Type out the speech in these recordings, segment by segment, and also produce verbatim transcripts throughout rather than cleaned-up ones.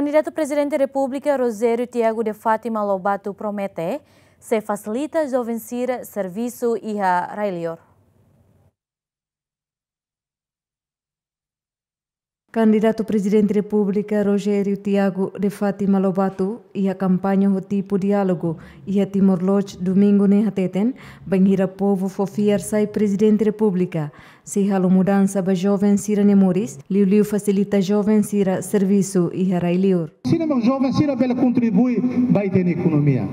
Kandidatu Prezidente Repúblika Rogério Tiago de Fátima Lobato promete sei fasilita joven sira servisu iha rai-liur. Kandidatu Prezidente Repúblika Rogério Tiago de Fátima Lobato iha kampaña ho tipu diálogu iha Timor-Leste, Domingu ne'e hateten, bainhira povu fó fiar sai Prezidente Repúblika, sei halo mudansa ba joven sira-nia moris, liuliu fasilita joven sira servisu iha rai-liur. Sira mak joven sira bele kontribui ba ita-nia ekonomia.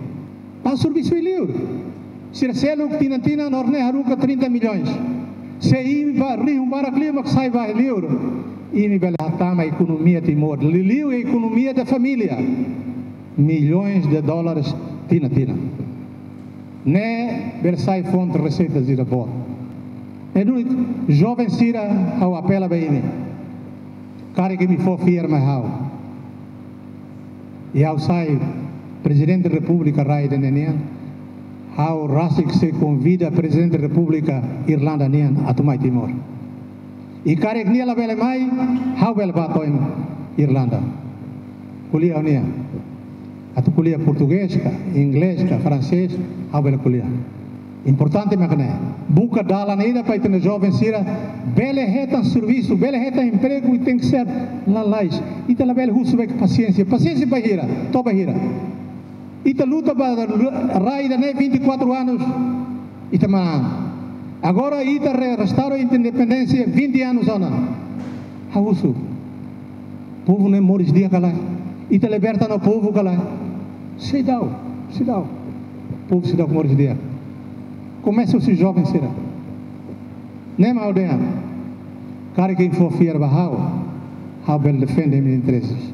Ba servisu liur. Sira seluk tinan-tinan horneia haruka trinta milhões. Se imi ba rihun barak liu mak sai ba liur, imi bele hatama ekonomia Timor, liuliu ekonomia da família. Milhões de dólares tinan-tinan. Ne'e bele sai fonte reseita sira boot. Ne'e duni, joven sira, ha'u apela ba imi. Karik imi fó fiar mai ha'u. I ha'u sai Prezidente Repúblika rai ida-ne'e nian, ha'u rasik sei konvida Prezidente Repúblika Irlanda nian atu mai Timor. I karik nia labele mai, ha'u bele ba to'o iha Irlanda. Ko'alia ho nia. Atu ko'alia portugés ka, inglés ka, fransés, ha'u bele ko'alia. Importante mak ne'e. Buka dalan ida para ita-nia joven sira bele hetan servisu, bele hetan empregu, i tenke ser lalais. Ita labele husu ba pasiénsia. Pasiénsia ba hira, to'o ba hira. Ita luta ba rai ida-ne'e vinte e quatro anos, ita manán. Agora ita re-, restaura independénsia vinte anos ona. Ha'u husu. Povu ne'e moris di'ak ka lae? Ita liberta ona povu ka lae? Seidauk, seidauk. Povu seidauk moris di'ak. Komesa husi joven sira. Ne'e mak ha'u dehan. Karik imi fó fiar ba ha'u, ha'u bele defende imi-nia intereses.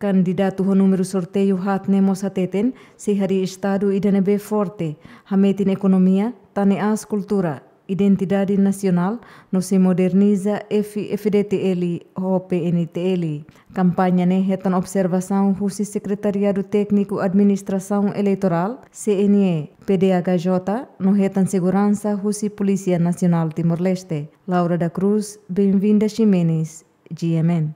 Kandidatu ho númeru sorteiu haat ne'e mós hateten, sei harii estadu ida ne'ebé forte, hametin ekonomia, tane aas kultura, identidade nasionál, no sei moderniza F-, F-FDTL ho P N T L. Kampaña ne'e hetan observasaun husi Sekretariadu Tékniku Administrasaun Eleitorál, C N E, P D H J, no hetan seguransa husi Polísia Nasionál Timor-Leste. Laura da Cruz, Benvinda Ximenes, G M N.